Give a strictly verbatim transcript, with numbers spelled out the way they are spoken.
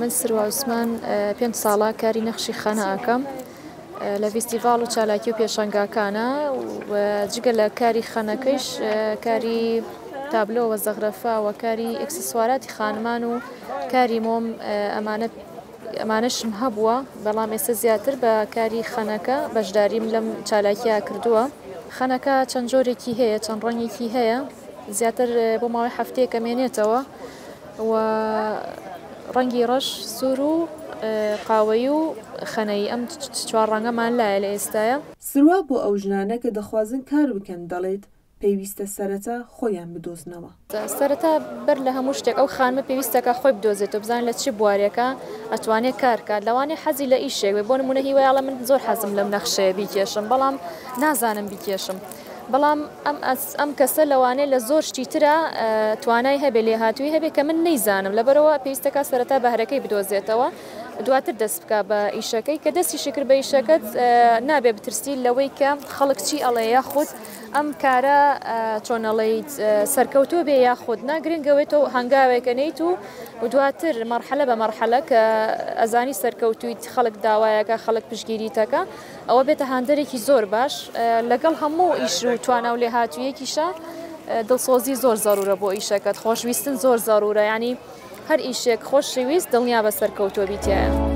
من سروە عوسمان پێنج ساڵە کاری نەخشی خانە ئەکەم لە فیستیڤاڵ و چالاکی و پێشانگاکانە و جگە لە کاری خەنەکەیش کاری تابلۆ و زەغرەفە و کاری ئێکسسواراتی خانمان و کاری مۆم ئەمانە ئەمانەشم هەبووە، بەڵام ئێستا زیاتر بە کاری خەنەکە بەشداریم لەم چالاکیە کردووە. خەنەکە چەند جۆرێکی هەیە، چەند ڕەنگێکی هەیە، زیاتر بۆ ماوەی هەفتەیەکە مێنێتەوە و ڕەنگی ڕەش، سوور و قاوەیی و خەنەیی، ئەم چوار ڕەنگەمان لایە لە ئێستاە. سروا بۆ ئەو ژنانە کە دەخوازن کار بکەن دەڵێت پێویستە سەرەتا خۆیان بدۆزنەوە. سەرەتا بەر لە هەموو شتێک ئەو خانمە پێویستەکە خۆی بدۆزێتەوە، بزانێت لە چی بوارێکە ئەتوانێت کار کات. لەوانەیە حەزی لە ئیشێک بێ، بۆ نمونە هیوایەڵە من زۆر حەزم لەم نەخشەیە بیکێشم، بەڵام نازانم بیکێشم، بەڵام ئەم کەسە لەوانەیە لە زۆر شتی ترە توانای هەبێ، لێهاتووی هەبێ کە من نەیزانم. لەبەرەوە پێویستەکە سەرەتا بەهرەکەی بدۆزێتەوە، دواتر دەست بکە بە ئیشەکەی. کە دەستیشی کرد بە ئیشەکەت نابێ بترسی لەوەی کە خەڵک چی ئەڵێ یاخود ئەم کارە چۆن ئەڵێیت سەرکەوتوو بێ یاخود نا. گرنگەوێتەوە هەنگاوێکە نەیت و دواتر مەرحەلە بە مەرحەلە کە ئەزانی سەرکەوتوویت، خەڵک داوایەکە، خەڵک پشتگیریتەکە، ئەوە بێتە هاندەرێکی زۆر باش. لەگەڵ هەموو ئیش و توانا و لێهاتوویەکیشە دڵسۆزی زۆر زەرورە بۆ ئیشەکەت، خۆشویستن زۆر زەرورە. ینی هەر ئیشێک خۆشویست دڵنیا بە سەرکەوتووە بیتایە.